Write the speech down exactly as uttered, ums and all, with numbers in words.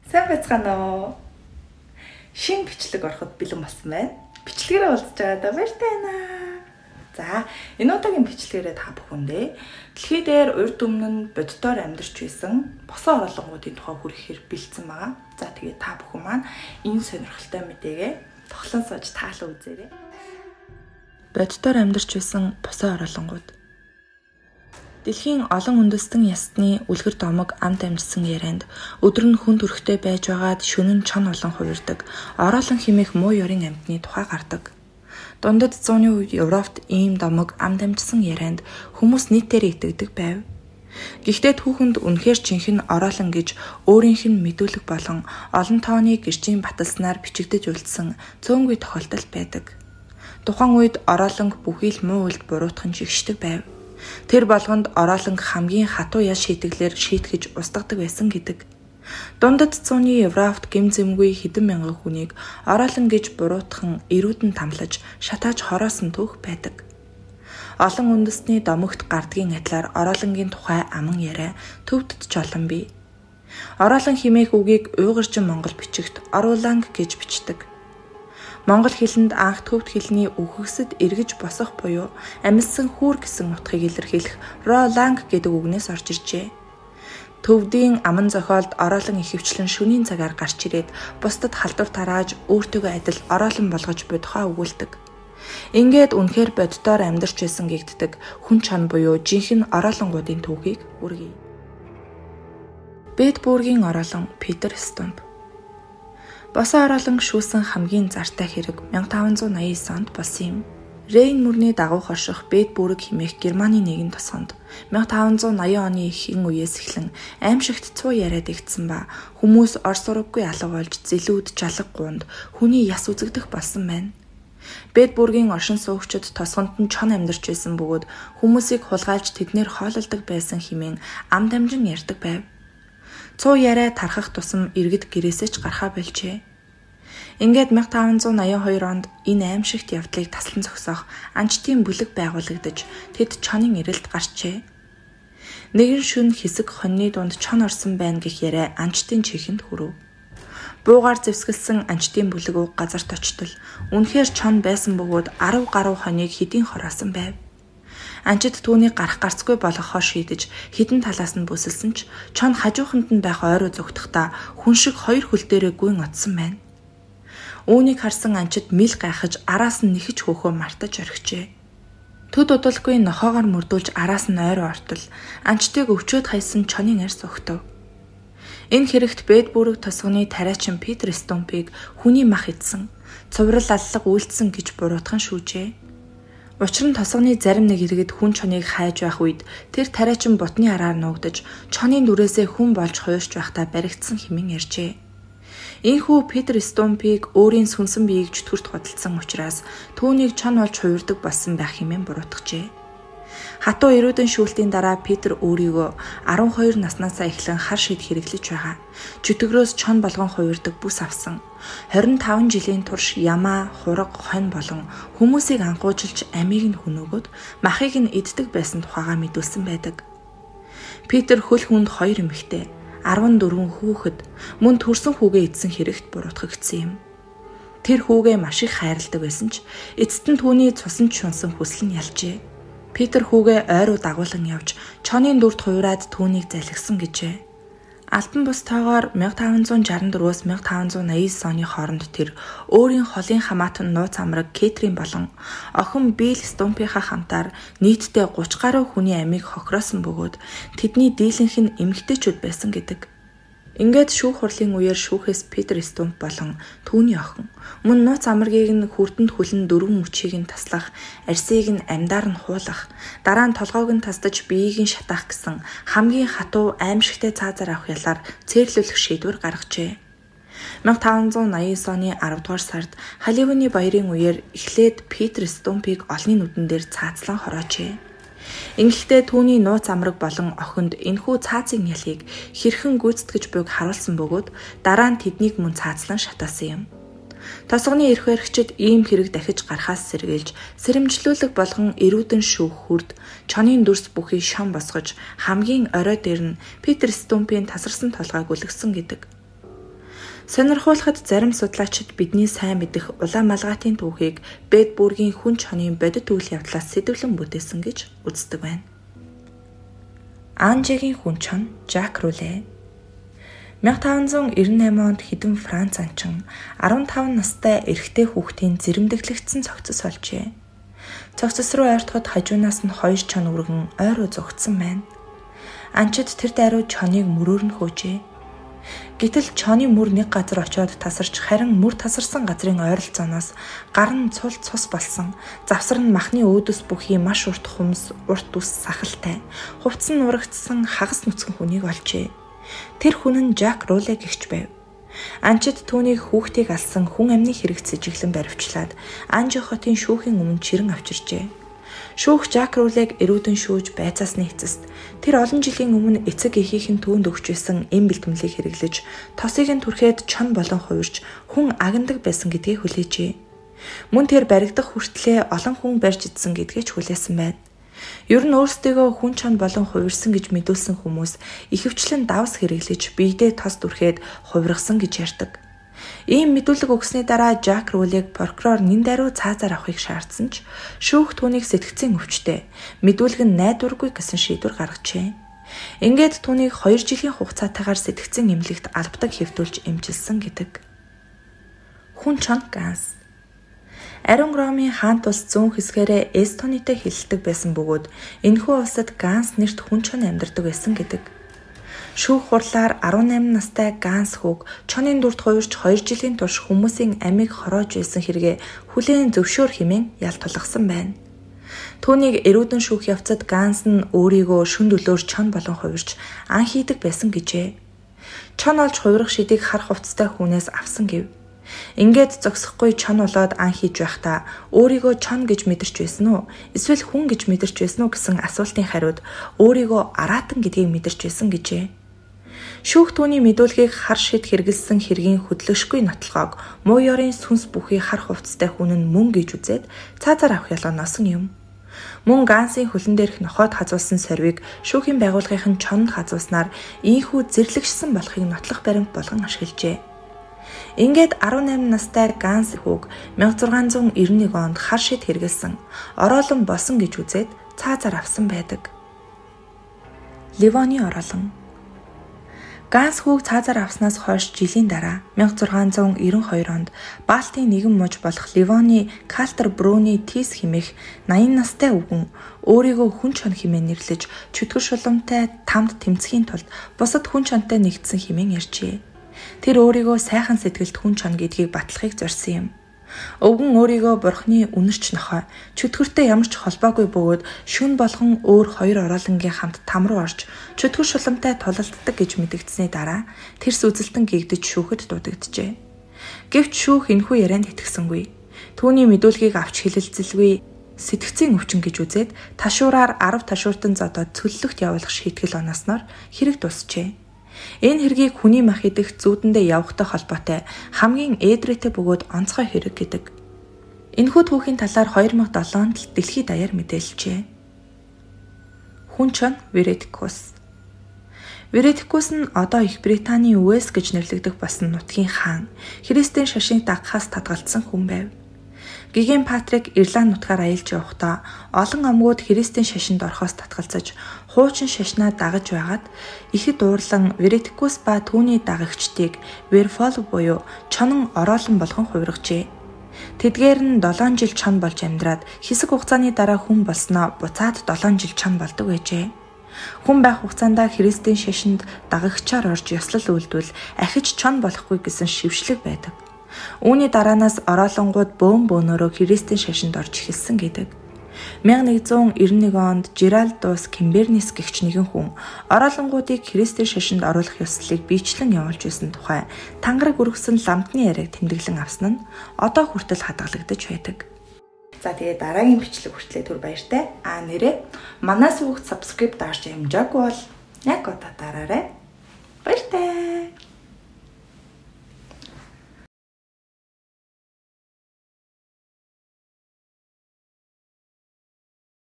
Сайн байцгаана уу? Шинэ бичлэг ороход бэлэн болсон байна. Бичлэгээрээ уулзж байгаадаа баяртай байна. За, энэ удаагийн бичлэгээрээ та бүхэндээ дэлхий дээр урд өмнө нь боддоор амьдарч байсан босоо орлонгуудын тухай хүрэхээр бэлдсэн байгаа. За, тэгээд та бүхэн маань энэ сонирхолтой мэдээгээ тоглоом сууж таалан үзээрэй. Боддоор амьдарч байсан босоо орлонгууд. Дэлхийн олон үндэстэн ясны үлгэр домог амт амжсан ярианд өдөр нь хүн төрхтэй байж байгаад шөнө нь чон олон хувирдаг, ороолон химээх муу ёрийн амьтны тухай гардаг. Дундад зууны үед Европт ийм домог амт амжсан ярианд хүмүүс нийтээр итгэдэг байв. Гэхдээ түүхэнд үнэхээр жинхэнэ ороолон гэж өөрийнх нь мэдүүлэг болон олон тооны гэрчийн баталснаар бичигдэж үлдсэн цөөнгүй тохиолдол байдаг. Тухайн үед ороолонг бүхий л муу үйлд буруутхан жигшдэг байв. Тэр болгонд ороолонг хамгийн хатуу яс шийтгэлээр шийтгэж устгадаг байсан гэдэг. Дундад зууны Европт гэм зэмгүй хэдэн мянган хүнийг ороолон гэж буруутхан эрүүдэн тамлаж шатааж хороосон түүх байдаг. Олон үндэстний домогт гардгийн адилаар ороолонгийн тухай аман яриа төвдөд чолон бий. Ороолон химээх үгийг уйгуржин монгол бичигт орууланг гэж бичдэг. Монгол хэлэнд анх төвд хэлний үхэгсэд эргэж босох буюу амьдсан хүүр гэсэн утгыг илэрхийлэх роланг гэдэг үгнээс орж иржээ. Төвдийн аман зохиолд ороолон ихэвчлэн шөнийн цагаар гарч ирээд бусдад халдвар тарааж өөртөөгөө адил ороолон болгож буй тухай өгүүлдэг. Ингээд үнэхээр боддоор амьдарч байсан гэгддэг хүн чон буюу жинхэнэ ороолонгуудын түүхийг үргэе. Бэдбүргийн ороолон Питер Стумп. Босоо ороолон шүүсэн хамгийн зартай хэрэг мянга таван зуун наяан девять онд болсон юм. Рейн мөрний дагуу хорших Бэдбүрг хэмээх Германы нэгэн тосгонд мянга таван зуун наяан оны эхийн үеэс эхлэн аимшигт цуу яриад игдсэн ба хүмүүс орс ураггүй алга болж зэлүүд жалаг гуунд хүний яс үзэгдэх болсон байна. Бэдбүргийн оршин суугчид тосгонд нь чон амьдарч байсан бөгөөд хүмүүсийг хулгайлж тэднэр хоололдог байсан хэмээн ам дамжин ярьдаг байв. Цуу яриа тархах тусам иргэд гэрээсээ ч гарахаа болжээ. Ингээд мянга таван зуун наяан хоёр онд энэ аимшигт явдлыг таслан зогсоох анчтын бүлэг байгуулагдаж тэд чонын ирэлд гарчээ. Нэгэн шөнө хэсэг хоньны дунд чон орсон байна гэх яриа анчтын чихэнд хүрв. Буугаар зэвсгэлсэн анчтын бүлэг уг газарт очтол үнэхээр чон байсан бөгөөд арав гаруй хоньыг хэдийн хороосон байв. Анчид түүнийг гарах гарцгүй болгохоо шийдэж хідэн талаас нь бүсэлсэн ч чон хажууханд нь байх ойроо зүгтхдаа хүн шиг хоёр хөл дээрээ гүйн отсон байна. Үүнийг харсан анчид мэл гайхаж араас нь нэхэж хөөхөө мартаж орхижээ. Төд удалгүй нохоогоор мөрдүүлж араас нь ойроо ортол анчдыг өвчөөд хайсан чонын арьс өгтөв. Энэ хэрэгт Бэдбүрг тосгоны тариачин Питер Стумпыг хүний мах идсэн, цуврал аллаг үйлдсэн гэж буруутхан шүүжээ. Учир нь тосгоны зарим нэг иргэд хүн чоныг хайж байх үед тэр тариачин бутны араар нуугдаж чонын дүрээсээ хүн болж хуурч байхдаа баригдсан хэмээн ярьжээ. Ийхүү Питер Стумпыг өөрийн сүнсэн биеийг чөтгөрт худалдсан учраас түүнийг чон болж хуурдаг болсон байх хэмээн буруутгажээ. Хатуу эрүүдэн шүүлтийн дараа Питер өөрийгөө арван хоёр наснаасаа эхлэн хар шид хэрэглэж байгаа. Чөтгөрөөс чон болгон хуурдаг бүс авсан. хорин таван жилийн турш ямаа, хураг, хонь болон хүмүүсийг анхуужилж амийг нь хөнөөгөөд махыг нь иддэг байсан тухайга мэдүүлсэн байдаг. Питер хөл хүнд хоёр эмэгтэй, арван дөрвөн хүүхэд, мөн төрсөн хүүгээ эдсэн хэрэгт буруутгагдсан юм. Тэр хүүгээ маш их хайрладаг байсан ч эцэст нь түүний цусан чунсан хүсэл нь ялжээ. Питер хүүгээ ойруу дагуулan явж чонын дүрд хуураад түүнийг залгисан гэжээ. Альбан бус тоогоор мянга таван зуун шаран дөрвөөс мянга таван зуун наяан девять оны хооронд тэр өөрийн холын хамаатан нууц амраг Кэтрин болон охин Билл Стумпийнхаа хамтаар нийтдээ гуч гаруй хүний амийг хохироосон бөгөөд тэдний дийлэнх нь эмэгтэйчүүд байсан гэдэг. Ингээд шүүх хурлын үеэр шүүхээс Питер Стумп болон түүний охин мөн нууц амрагийг нь хүрдэнд хүлэн дөрвөн мөчийг нь таслах, арьсыг нь амьдаар нь хуулах, дараа нь толгойг нь тасдаж биеийг нь шатаах гэсэн хамгийн хатуу аимшигтай цаазаар авах ялаар цээрлүүлэх шийдвэр гаргажээ. мянга таван зуун наяан девять оны арав дугаар сард Халливаны баярын үеэр эхлээд Питер Стумпыг олонний нүдэн дээр цаацлан хороожээ. Ингэхдээ түүний нууц амраг болон охинд энэхүү цаацын ялыг хэрхэн гүйцэтгэж буйг харуулсан бөгөөд дараа нь тэднийг мөн цаацлан шатаасан юм. Тосгоны эрх баригчид ийм хэрэг дахиж гарахаас сэргийлж сэрэмжлүүлэг болгон эрүүдэн шүүх хүрд чонын дүрс бүхий шон босгож хамгийн орой дээр нь Питер Стумпийн тасарсан толгойг үлгсэн гэдэг. Сонирхуулахад зарим судлаачид бидний сайн мэдэх улаан малгайтын түүхийг Бэдбүргийн хүн чонын бодит үйл явдлаас сэдвлэн бүтээсэн гэж үздэг байна. Анжегийн хүн чон Жак Руле мянга таван зуун девяносто восемь онд хэдэн Франц анчин арван таван настай эрэгтэй хүүхдийн зэрэмдэглэгдсэн цогцос олжээ. Цогцос руу ойртоход хажуунаас нь хоёр чон өргөн ойроо зугтсан байна. Анчид тэр дайруу чоныг мөрөөр нь хөөжээ. Гэтэл чоны мөр нэг газар очиод тасарч харин мөр тасарсан газрын ойролцооноос гар нь цул цус болсон. Завсар нь махны өөдөөс бүхий маш урт хумс, урт ус сахалтай. Хувцас нь урагдсан хагас нүцгэн хүнийг олжээ. Тэр хүн нь Жак Руле гэгч байв. Анчид түүнийг хүүхдийг алсан хүн амны хэрэг сэжиглэн баривчлаад Анжи хотын шүүхийн өмнө чирэн авчирчээ. Шүүх Жак Рулег эрүүдэн шүүж байцаасны эцэст тэр олон жилийн өмнө эцэг эхийнхэн түүнд өгч байсан эм бэлтгэлийг хэрэглэж тосыг нь түрхээд чон болон хувирч хүн агнадаг байсан гэдгийг хүлээжээ. Мөн тэр баригдах хүртлээр олон хүн барьж идсэн гэдгийг ч хүлээсэн байна. Ер нь өөрсдөө хүн чон болон хувирсан гэж мэдүүлсэн хүмүүс ихэвчлэн давс хэрэглэж биедээ тос дүрхээд хувиргасан гэж ярьдаг. Ийм мэдүүлэг өгсөний дараа Жак Рулег прокурор нэн даруй цаазаар авахыг шаардсан ч шүүх түүнийг сэтгцийн өвчтэй мэдүүлэг нь найдваргүй гэсэн шийдвэр гаргажээ. Ингээд түүнийг хоёр жилийн хугацаатайгаар сэтгцийн эмнэлэгт албадаг хэвтүүлж эмчилсэн гэдэг. Хүн чон Ганс Ариун Ромын хаант улс зүүн хэсгээрээ эстонитэй хэлэлдэг байсан бөгөөд энэхүү улсад Ганс нэрт хүн чон амьдардаг байсан гэдэг. Шүүх хурлаар арван намын настай Ганс хүүг чонын дүрт хувирч хоёр жилийн турш хүмүүсийн амийг хороож байсан хэрэгээ хүлээн зөвшөөр хэмээн ял тулгасан байна. Түүнийг эрүүдэн шүүх явцад Ганс нь өөрийгөө шүн дөлөөр чон болон хувирч ан хийдэг байсан гэжээ. Чон олж хувирах шидийг хар хувцастай хүнээс авсан гэв. Ингээд зогсохгүй чон болоод ан хийж байхдаа өөрийгөө чон гэж мэдэрч байсан уу? Эсвэл хүн гэж мэдэрч байсан уу гэсэн асуултын хариуд өөрийгөө араатан гэдгийг мэдэрч байсан гэжээ. Шүүх түүний мэдүүлгийг хар шид хэрэгэлсэн хэргийн хөдлөшгүй нотлохоог муу ёрын сүнс бүхий хар хувцастай хүн нь мөн гэж үзээд цаазаар авах ялгааноос нь юм. Мөн Гансын хөлн дээрх нохойд хазуулсан сорвиг шүүхийн байгууллагын чонд хазууснаар ийхүү зэрлэгшсэн болохыг нотлох баримт болгон ашиглажээ. Ингээд арван намын настай Ганс хүүг мянга зургаан зуун девяносто нэг онд хар шид хэрэгэлсэн ороолон босон гэж үзээд цаазаар авсан байдаг. Ливоны ороолон Ганс хүүг цаазаар авснаас хойш жилийн дараа мянга зургаан зуун девяносто хоёр онд Балтийн нэгэн муж болох Ливоны Калтер Брүний Тис хэмээх наян настай өвгөн өөрийгөө хүн чон хэмээн нэрлэж чөтгөр шуламтай тамд тэмцэхийн тулд бусад хүн чонтой нэгдсэн хэмээн ярьжээ. Тэр өөрийгөө сайхан сэтгэлд хүн чон гэдгийг батлахыг зорьсон юм. Өвгөн өөрийгөө бурхны үнэрч нохой чөтгөртэй ямар ч холбоогүй бөгөөд шүн болгон өөр хоёр ороолонгийн хамт там руу орж чөтгөр шуламтай тулалддаг гэж мэдэгдсэний дараа тэрс үзэлтэн гэгдэж шүүхэд дуудагджээ. Гэвч шүүх энэхүү ярианд итгэсэнгүй. Түүний мэдүүлгийг авч хэлэлцэлгүй сэтгцийн өвчин гэж үзээд ташуураар арав ташууртан зодоод цөллөгт явуулах шийтгэл оноосноор хэрэг дуусжээ. Энэ хэргийг хүний мах идэх зүүдэндээ явахтай холбоотой хамгийн ээдрээтэй бөгөөд онцгой хэрэг гэдэг. Энэхүү түүхийн талаар хоёр мянга долоонд л дэлхийд даяар мэдээлжээ. Хүн чон Веретикус. Веретикус нь одоо Их Британий Уэльс гэж нэрлэгдэх басан нутгийн хаан, Христийн шашинг дагахаас татгалзсан хүн байв. Гиген Патрик Ирланд нутгаар аялж явахдаа олон амгууд Христийн шашинд орохоос татгалзаж хуучин шашнаа дагаж байгаад ихэд дуурлан Веретикус ба түүний дагагчдыг Верфол буюу чонон ороолон болгон хувиргажээ. Тэдгээр нь долоон жил чон болж амьдраад хэсэг хугацааны дараа хүн болсноо буцаад долоон жил чон болдог байжээ. Хүн байх хугацаанд Христийн шашинд дагагчаар орж ёслол үйлдвэл ахиж чон болохгүй гэсэн шившлэг байдаг. Үүний дараанаас ороолонгууд бөөн бөөнөөрөө Христийн шашинд орж эхэлсэн гэдэг. мянга нэгэн зуун девяносто нэг онд Жеральдус Кимбернис гэгч нэгэн хүн ороолонгуудыг Христийн шашинд оруулах ёслолыг биечлэн явуулж байсан тухай тангараг өргөсөн ламтны яриаг тэмдэглэн авсан нь одоо хүртэл хадгалагдаж байдаг. За тэгээ дараагийн бичлэг хүртлээр түр баяртай. А нэрээ манаас бүгд subscribe дарж амжаагүй бол яг одоо дараарай. Баяртай.